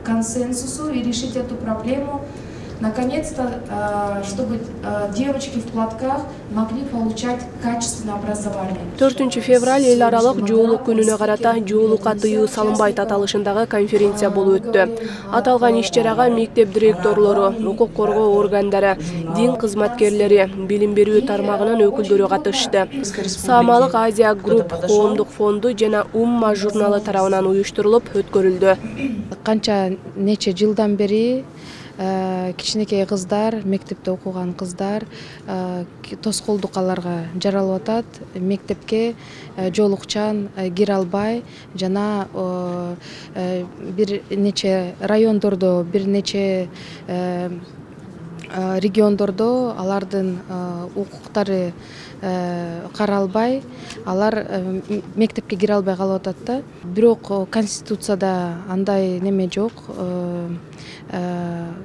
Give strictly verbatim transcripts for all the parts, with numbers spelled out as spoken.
консенсусу и решить эту проблему. Наконец-то, чтобы девочки в платках могли получать качественное образование. төртүнчү февраль эл аралык жоолук күнүнө карата жоолукка тыюу салынбайт аталышындагы конференция болуп өттү. Аталган иш-чарага мектеп директорлору, укук коргоо органдары, дин кызматкерлери, билим берүү тармагынын өкүлдөрү катышты. Саамалык Азия Групп коомдук фонду жана Умма журналы тарабынан уюштурулуп өткөрүлдү. Канча нече жылдан бери кичинекей кыздар, мектепте окуган кыздар тоскоолдук аларга жаралып атат. Мектепке жоолукчан кире албай жана бир нече райондордо, бир нече региондордо алардын укуктары каралбай, алар мектепке кире албай калып атат да. Бирок Конституцияда андай неме жок.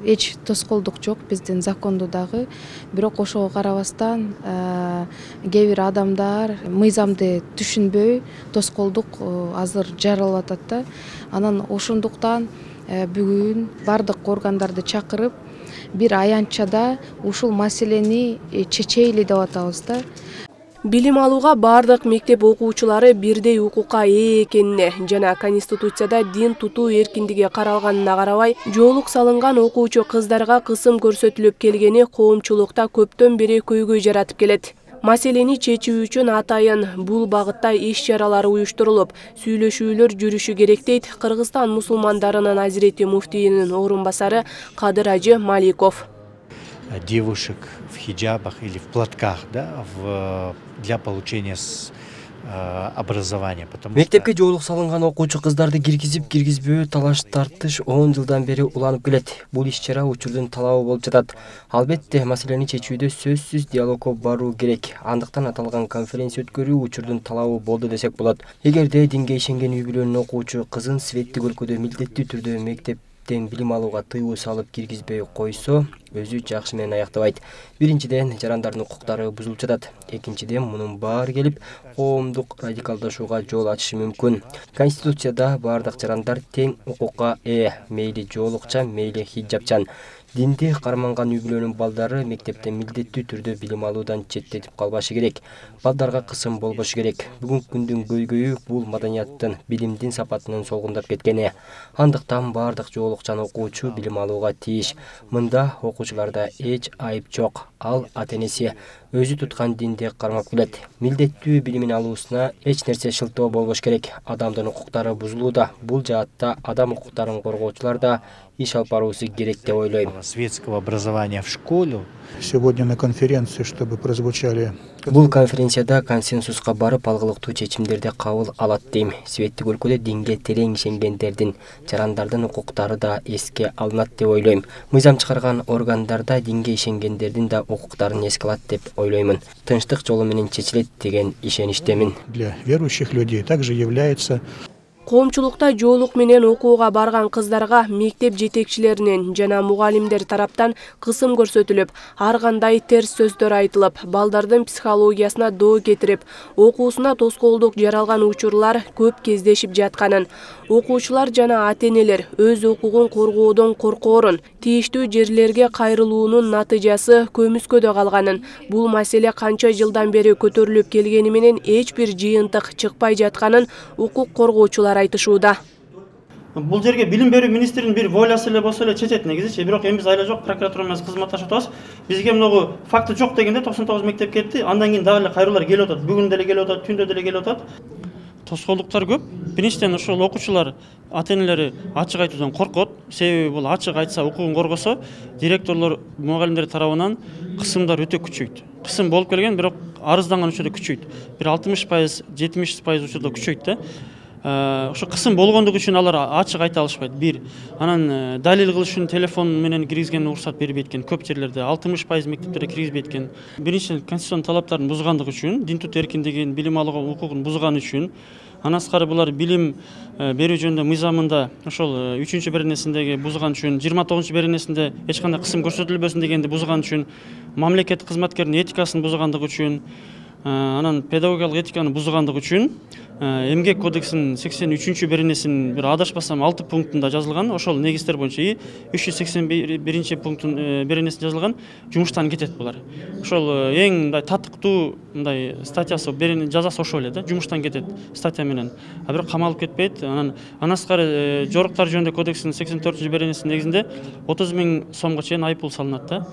Эч тоскоолдук жок биздин закондо дагы. Бирок ошого карабастан кээ бир адамдар мыйзамды түшүнбөй тоскоолдук азыр жаралып атат да. Анан ошондуктан бүгүн бардык органдарды чакырып бир аянтчада ушул маселени чечейли деп атабыз да. Билим алууга бардык мектеп окуучулары бирдей укукка ээ экенине жана Конституцияда дин тутуу эркиндиги каралганына карабай, жоолук салынган окуучу кыздарга кысым көрсөтүлүп келгени коомчулукта көптөн бери көйгөй жаратып келет. Маселени чечүү үчүн атайын бул багытта иш-чаралар уюштурулуп, сүйлөшүүлөр жүрүшү керек дейт Кыргызстан мусулмандарынын азирети муфтийинин орун басары Кадыр Ажы Маликов. Девушек в хиджабах или в платках, да, в, для получения образования. Мектепке жоолук салынган окуучу кыздарды киргизип киргизбөө талаш тартыш он жылдан бери уланып келет. Бул иш-чара учурдун талабы болуп жатат. Албетте, маселени чечүүдө сөзсүз диалогко баруу керек. Андыктан аталган конференция өткөрүү учурдун талабы болду десек болот. Эгерде динге ишенген үй бүлөнүн окуучу кызын светтик өлкөдө милдеттүү түрдө мектеп билим алууга тыюу салып киргизбей койсо, өзү жакшы менен аяктабайт. Биринчиден, жарандардын укуктары бузулуп жатат. Экинчиден, мунун баары келип, коомдук радикалдашууга жол ачышы мүмкүн. Конституцияда бардык жарандар тең укукка ээ, мейли жоолукчан, мейли хиджабчан. Динди карманган үй бүлөнүн балдары мектепте милдеттүү түрдө билим алуудан четтетип калбашы керек. Балдарга кысым болбошу керек. Бүгүнкү күндүн көйгөйү бул маданияттын, билимдин сапатынын солгундап кеткени. Андыктан бардык жоолукчан окуучу билим алууга тийиш. Мында окуучуларда эч айып жок. Ал ата-энеси өзү туткан динди кармап келет. Милдеттүү билимин алуусуна эч нерсе шылтоо болбош керек. Адамдын укуктары бузулууда. Бул жаатта адам укуктарын коргоочулар да иш алып баруусу керек деп ойлойм. Светского образования в школе. Сегодня на конференции, чтобы прозвучали. Бул конференцияда консенсуска барып алгылыктуу чечимдерди кабыл алат дейм. Светтик өлкөдө динге терең ишенгендердин, жарандардын укуктары да эске алынат деп ойлойм. Мыйзам чыгарган органдарда динге ишенгендердин да укуктарын эске алат деп ойлоймун. Тынчтык жолу менен чечилет деген ишеничтемин. Для верующих людей также является. Коомчулукта жоолук менен окууга барган кыздарга мектеп жетекчилеринин жана мугалимдер тараптан кысым көрсөтүлүп, ар кандай терс сөздөр айтылып, балдардын психологиясына доо кетирип, окуусуна тоскоолдук жаралган учурлар көп кездешип жатканын, окуучулар жана ата-энелер өз укугун коргоодон коркоорун, тийиштүү жерлерге кайрылуунун натыйжасы көмүскөдө калганын, бул маселе канча жылдан бери көтөрүлүп келгени менен эч бир жыйынтык чыкпай жатканын укук коргоочулар айтышууда. Бул жерге билим берүү министринин бир волясы эле болсо эле чечет негизи, бирок эми биз айла жок, прокуратура менен кызматташып атабыз. Бизге мынагу факты жок дегенде токсон тогуз мектеп кетти, андан кийин дагы эле кайрылуулар келип атат. Бүгүн деле келип атат, түндө деле келип атат. Тоскоолдуктар көп. Биринчиден ошол окуучулар ата-энелери ачык айтуудан коркот. Себеби бул ачык айтса, укугун коргосо, директорлор, мугалимдер тарабынан кысымдар өтө күчөйт. Кысым болуп келген, бирок арызданган учурда күчөйт. Бир алтымыш пайыз, жетимиш пайыз учурда күчөйт да. Ошо кысым болгондугу үчүн алар ачык айта алышпайт. Бир, анан далил кылыш үчүн телефон менен киргизгенге уруксат бербейт экен. Көп жерлерде алтымыш пайыз мектептерде киргизбейт экен. Биринчиден конституциянын талаптарын бузгандыгы үчүн, дин тутуу эркиндигин, билим алууга укугун бузган үчүн, андан тышкары булар билим берүү жөнүндө мыйзамында ошол үчүнчү беренесиндеги бузган үчүн, жыйырма тогузунчу беренесинде эч кандай кысым көрсөтүлбөсүн дегенди бузган үчүн, мамлекеттик кызматкердин этикасын бузгандыгы үчүн, анан педагогиялык этиканы бузгандык үчүн эмгек кодексинин сексен үчүнчү беренесинин бир адашпасам алты пунктунда жазылган, ошол негиздер боюнча и үч жүз сексен биринчи пунктун беренесинде жазылган жумуштан кетет булар. Ошол эң мындай татыктуу мындай статьясы жазасы ошол эле да, жумуштан кетет статья менен. А бирок камалып кетпейт. Анан андан сырткары жоруктар жөнүндө кодексинин сексен төртүнчү беренесинин негизинде отуз миң сомго чейин айыппул салынат да.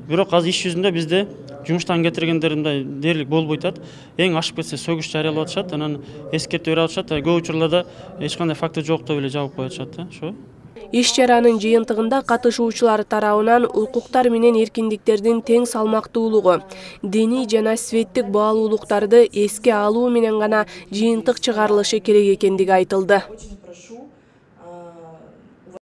Бирок азыр иш жүзүндө бизде жумуштан кетиргендер мындай дээрлик болбойт атат. Эң ашып кетсе сөгүш жарыялап атышат, анан эскертүү берип атышат. Көп учурларда эч кандай факты жок деп эле жабып коюп атышат да. Ошо. Иш чаранын жыйынтыгында катышуучулар тарабынан укуктар менен эркиндиктердин тең салмактуулугу, диний жана светтик баалуулуктарды эске алуу менен гана жыйынтык чыгарылышы керек экендиги айтылды.